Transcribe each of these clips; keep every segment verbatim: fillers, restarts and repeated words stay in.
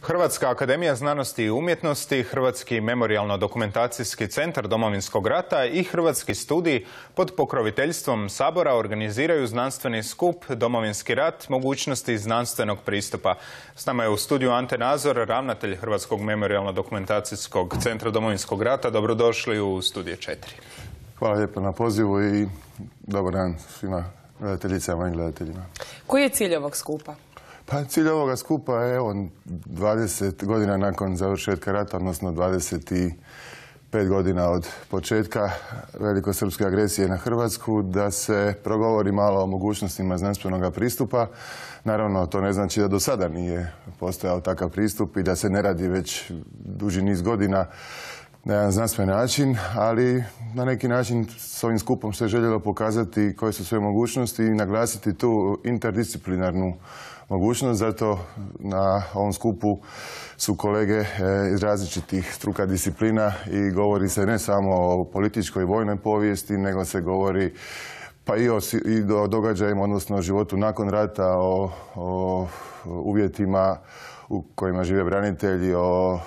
Hrvatska akademija znanosti i umjetnosti, Hrvatski memorijalno-dokumentacijski centar Domovinskog rata i Hrvatski studij pod pokroviteljstvom Sabora organiziraju znanstveni skup Domovinski rat, mogućnosti znanstvenog pristupa. S nama je u studiju Ante Nazor, ravnatelj Hrvatskog memorijalno-dokumentacijskog centra Domovinskog rata. Dobrodošli u studije četiri. Hvala lijepo na pozivu i dobar dan svima gledateljicama i gledateljima. Koji je cilj ovog skupa? Pa cilj ovoga skupa je evo dvadeset godina nakon završetka rata, odnosno dvadeset pet godina od početka velikosrpske agresije na Hrvatsku, da se progovori malo o mogućnostima znanstvenog pristupa. Naravno, to ne znači da do sada nije postojao takav pristup i da se ne radi već duži niz godina na jedan znanstven način, ali na neki način s ovim skupom se željelo pokazati koje su sve mogućnosti i naglasiti tu interdisciplinarnu mogućnost. Zato na ovom skupu su kolege iz različitih struka disciplina i govori se ne samo o političkoj i vojnoj povijesti, nego se govori pa i o, i o događajima, odnosno o životu nakon rata, o, o uvjetima u kojima žive branitelji, o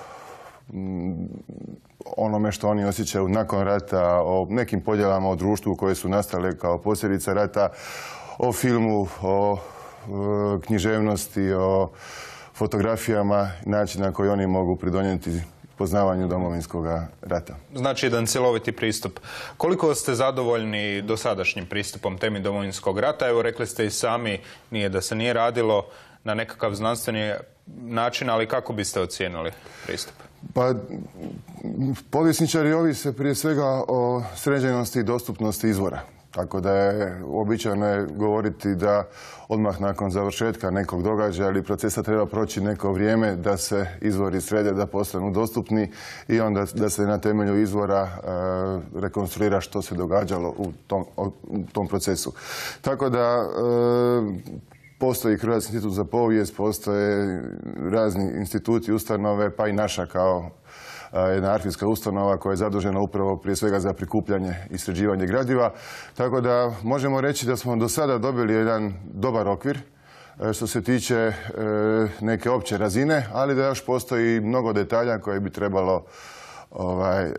onome što oni osjećaju nakon rata, o nekim podjelama u društvu koje su nastale kao posljedica rata, o filmu, o književnosti, o fotografijama, način na koji oni mogu pridonijeti poznavanju Domovinskog rata. Znači jedan cjeloviti pristup. Koliko ste zadovoljni dosadašnjim pristupom temi Domovinskog rata? Evo, rekli ste i sami, nije da se nije radilo na nekakav znanstveni način, ali kako biste ocijenili pristup? Pa, povjesničari ovise prije svega o sređenosti i dostupnosti izvora. Tako da je uobičajeno je govoriti da odmah nakon završetka nekog događaja ili procesa treba proći neko vrijeme da se izvori srede, da postanu dostupni i onda da se na temelju izvora e, rekonstruira što se događalo u tom, u tom procesu. Tako da e, postoji Hrvatski institut za povijest, postoje razni instituti, ustanove, pa i naša kao jedna arhivska ustanova koja je zadužena upravo prije svega za prikupljanje i sređivanje gradiva. Tako da možemo reći da smo do sada dobili jedan dobar okvir što se tiče neke opće razine, ali da još postoji mnogo detalja koje bi trebalo ovaj,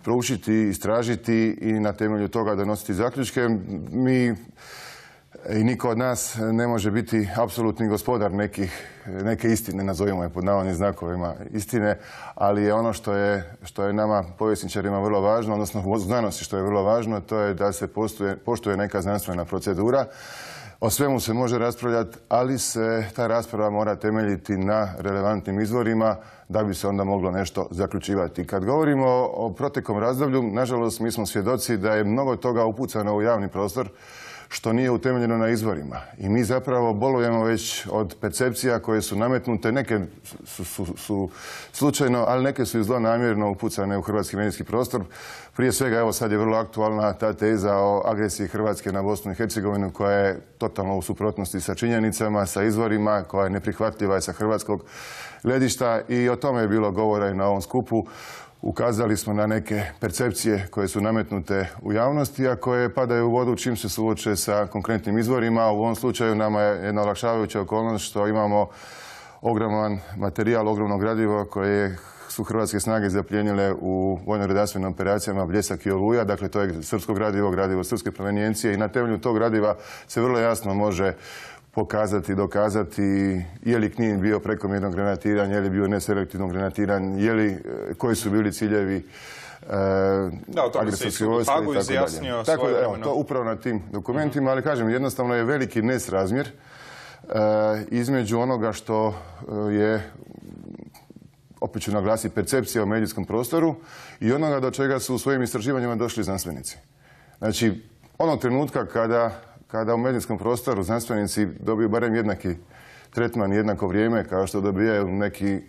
proučiti, istražiti i na temelju toga donositi zaključke. Mi i niko od nas ne može biti apsolutni gospodar nekih, neke istine, nazovimo je pod navodnim znakovima istine, ali je ono što je, što je nama povjesničarima vrlo važno, odnosno u znanosti što je vrlo važno, to je da se poštuje, poštuje neka znanstvena procedura. O svemu se može raspravljati, ali se ta rasprava mora temeljiti na relevantnim izvorima da bi se onda moglo nešto zaključivati. Kad govorimo o proteklom razdoblju, nažalost mi smo svjedoci da je mnogo toga upucano u javni prostor što nije utemeljeno na izvorima. I mi zapravo bolujemo već od percepcija koje su nametnute, neke su, su, su slučajno, ali neke su i zlonamjerno upucane u hrvatski medijski prostor. Prije svega, evo sad je vrlo aktualna ta teza o agresiji Hrvatske na Bosnu i Hercegovinu koja je totalno u suprotnosti sa činjenicama, sa izvorima, koja je neprihvatljiva sa hrvatskog gledišta i o tome je bilo govora i na ovom skupu. Ukazali smo na neke percepcije koje su nametnute u javnosti, a koje padaju u vodu čim se suoče sa konkretnim izvorima. U ovom slučaju nama je jedna olakšavajuća okolnost što imamo ogroman materijal, ogromno gradivo koje su hrvatske snage zaplijenile u vojno-redarstvenim operacijama Bljesak i Oluja. Dakle, to je srpsko gradivo, gradivo srpske provenijencije i na temelju tog gradiva se vrlo jasno može pokazati, dokazati je li Knin bio prekomjerno granatiran, je li bio neselektivno granatiran, je li, koji su bili ciljevi e, agresorske vojske i tako dalje. Tako da, evo, to upravo na tim dokumentima, ali kažem, jednostavno je veliki nesrazmjer e, između onoga što je, opet ću naglasiti, percepcija u medijskom prostoru i onoga do čega su u svojim istraživanjima došli znanstvenici. Znači, onog trenutka kada kada u medijskom prostoru znanstvenici dobiju barem jednaki tretman, jednako vrijeme kao što dobijaju neki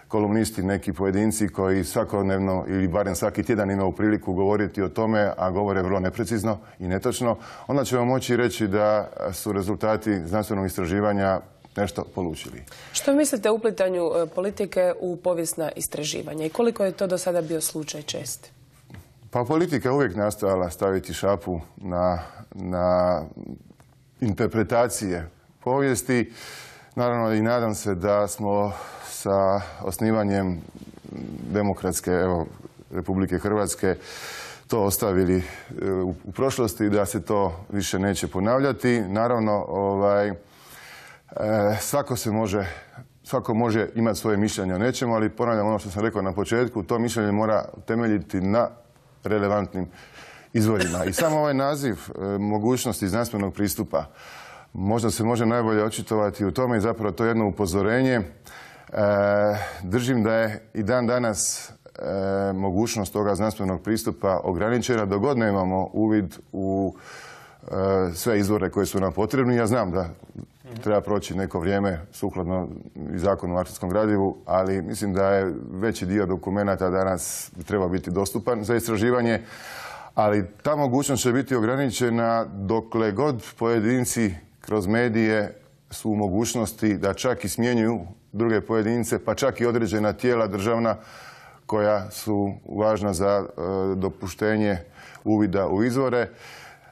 kolumnisti, neki pojedinci koji svakodnevno ili barem svaki tjedan imaju priliku govoriti o tome, a govore vrlo neprecizno i netočno, onda ćemo moći reći da su rezultati znanstvenog istraživanja nešto polučili. Što mislite o uplitanju politike u povijesna istraživanja i koliko je to do sada bio slučaj čest? Pa politika uvijek nastojala staviti šapu na, na interpretacije povijesti. Naravno i nadam se da smo sa osnivanjem demokratske evo, Republike Hrvatske to ostavili u, u prošlosti, da se to više neće ponavljati. Naravno, ovaj, e, svako se može, svako može imati svoje mišljenje o nečemu, ali ponavljam ono što sam rekao na početku, to mišljenje mora temeljiti na relevantnim izvorima. I samo ovaj naziv e, mogućnosti znanstvenog pristupa možda se može najbolje očitovati u tome i zapravo to je jedno upozorenje. E, držim da je i dan danas e, mogućnost toga znanstvenog pristupa ograničena dok god nemamo uvid u e, sve izvore koje su nam potrebni. Ja znam da treba proći neko vrijeme sukladno i zakonu o arhivskom gradivu, ali mislim da je veći dio dokumenata danas treba biti dostupan za istraživanje. Ali ta mogućnost će biti ograničena dokle god pojedinci kroz medije su u mogućnosti da čak i smjenjuju druge pojedince, pa čak i određena tijela državna koja su važna za e, dopuštenje uvida u izvore,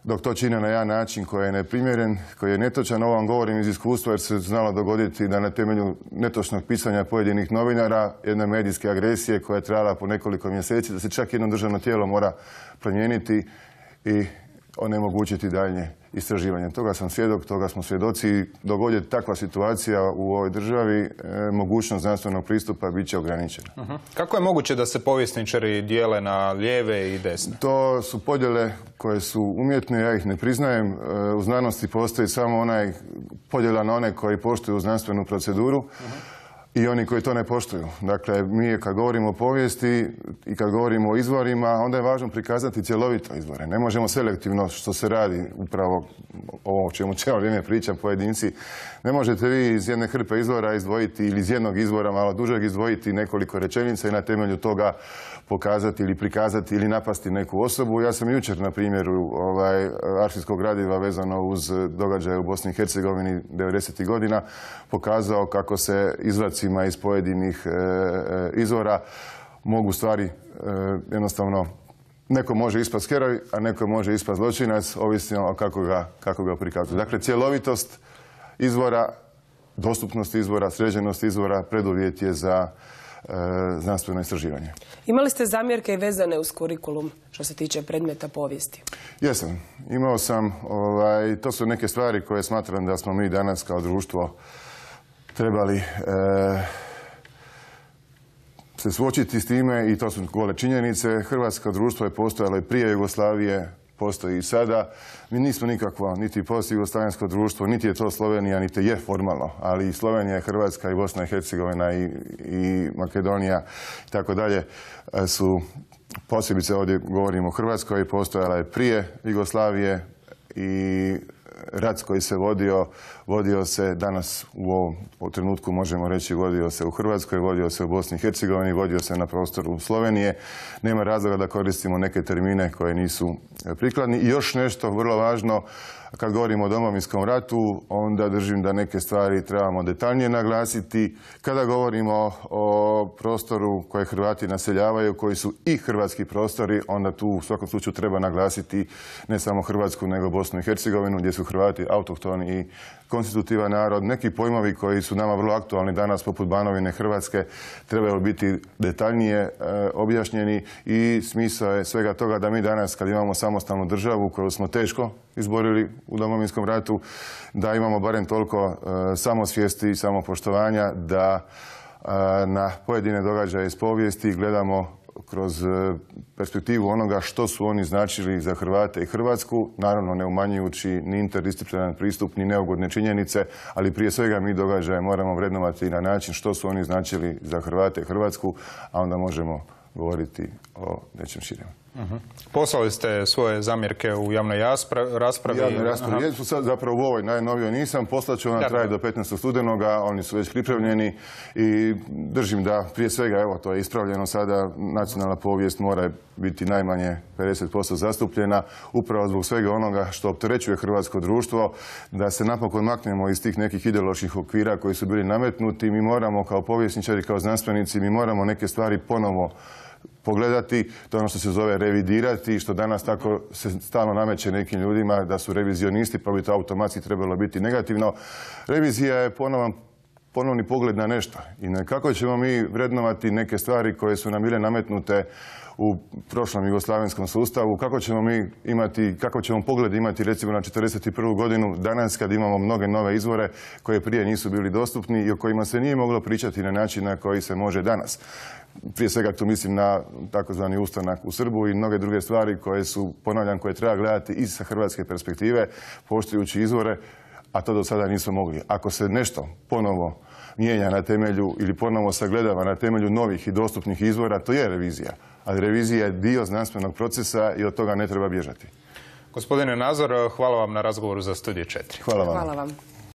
dok to čine na jedan način koji je neprimjeren, koji je netočan. Ovo vam govorim iz iskustva jer se znalo dogoditi da na temelju netočnog pisanja pojedinih novinara, jedne medijske agresije koja je trajala po nekoliko mjeseci, da se čak jedno državno tijelo mora promijeniti i onemogućiti daljnje istraživanje. Toga sam svjedok, toga smo svjedoci. Dok god je takva situacija u ovoj državi, e, mogućnost znanstvenog pristupa bit će ograničena. Uh-huh. Kako je moguće da se povjesničari dijele na lijeve i desne? To su podjele koje su umjetne, ja ih ne priznajem. E, u znanosti postoji samo onaj podjela na one koji poštuju znanstvenu proceduru. Uh-huh. I oni koji to ne poštuju. Dakle, mi kad govorimo o povijesti i kad govorimo o izvorima, onda je važno prikazati cjelovito izvore. Ne možemo selektivno, što se radi upravo ovo o čemu cijelo vrijeme pričam, pojedinci. Ne možete vi iz jedne hrpe izvora izdvojiti ili iz jednog izvora malo dužeg izdvojiti nekoliko rečenica i na temelju toga pokazati ili prikazati ili napasti neku osobu. Ja sam jučer, na primjeru ovaj, arhivskog gradiva vezano uz događaje u Bosni i Hercegovini devedesetih godina pokazao kako se izvacima iz pojedinih e, izvora mogu stvari e, jednostavno, neko može ispast heroj, a neko može ispast zločinac, ovisno o kako ga, kako ga prikazuje. Dakle, cjelovitost izvora, dostupnost izvora, sređenost izvora preduvjet je za znanstveno istraživanje. Imali ste zamjerke i vezane uz kurikulum što se tiče predmeta povijesti? Jesam. Imao sam, ovaj, to su neke stvari koje smatram da smo mi danas kao društvo trebali e, se suočiti s time i to su gole činjenice. Hrvatsko društvo je postojalo i prije Jugoslavije, postoji i sada. Mi nismo nikakvo niti post-jugoslavensko društvo, niti je to Slovenija, niti je formalno, ali i Slovenija, i Hrvatska, i Bosna i Hercegovina, i, i Makedonija i tako dalje su, posebice ovdje govorimo o Hrvatskoj, postojala je prije Jugoslavije i rat koji se vodio, vodio se danas u ovom trenutku, možemo reći, vodio se u Hrvatskoj, vodio se u Bosni i Hercegovini, vodio se na prostoru Slovenije. Nema razloga da koristimo neke termine koje nisu prikladni. I još nešto vrlo važno, kad govorimo o Domovinskom ratu, onda držim da neke stvari trebamo detaljnije naglasiti. Kada govorimo o prostoru koje Hrvati naseljavaju, koji su i hrvatski prostori, onda tu u svakom slučaju treba naglasiti ne samo Hrvatsku, nego Bosnu i Hercegovinu, gdje su Hrvati autohtoni i konstitutivan narod. Neki pojmovi koji su nama vrlo aktualni danas, poput Banovine Hrvatske, trebaju biti detaljnije e, objašnjeni i smisao je svega toga da mi danas, kad imamo samostalnu državu koju smo teško izborili u Domovinskom ratu, da imamo barem toliko e, samosvijesti i samopoštovanja da e, na pojedine događaje iz povijesti gledamo kroz perspektivu onoga što su oni značili za Hrvate i Hrvatsku, naravno ne umanjujući ni interdisciplinaran pristup, ni neugodne činjenice, ali prije svega mi događaje moramo vrednovati na način što su oni značili za Hrvate i Hrvatsku, a onda možemo govoriti o nečem širem. Uh-huh. Poslali ste svoje zamjerke u javnoj raspravi. Javnoj raspravi. Jesu sad zapravo u ovoj najnovijoj nisam. Poslaću ona traje do petnaestog studenoga. Oni su već pripremljeni i držim da prije svega, evo, to je ispravljeno sada, nacionalna povijest mora biti najmanje pedeset posto zastupljena, upravo zbog svega onoga što opterećuje hrvatsko društvo, da se napokon maknemo iz tih nekih ideoloških okvira koji su bili nametnuti. Mi moramo kao povjesničari, kao znanstvenici, mi moramo neke stvari ponovo pogledati, to je ono što se zove revidirati, što danas tako se stalno nameće nekim ljudima da su revizionisti, pa bi to automatski trebalo biti negativno. Revizija je ponovan ponovni pogled na nešto i na kako ćemo mi vrednovati neke stvari koje su nam bile nametnute u prošlom jugoslavenskom sustavu, kako ćemo mi imati, kako ćemo pogled imati recimo na četrdeset prvu godinu danas kad imamo mnoge nove izvore koje prije nisu bili dostupni i o kojima se nije moglo pričati na način na koji se može danas. Prije svega tu mislim na takozvani ustanak u Srbu i mnoge druge stvari koje su, ponavljam, koje treba gledati i sa hrvatske perspektive, poštujući izvore, a to do sada nismo mogli. Ako se nešto ponovo mijenja na temelju ili ponovo sagledava na temelju novih i dostupnih izvora, to je revizija. Ali revizija je dio znanstvenog procesa i od toga ne treba bježati. Gospodine Nazor, hvala vam na razgovoru za Studij četiri. Hvala vam. Hvala vam.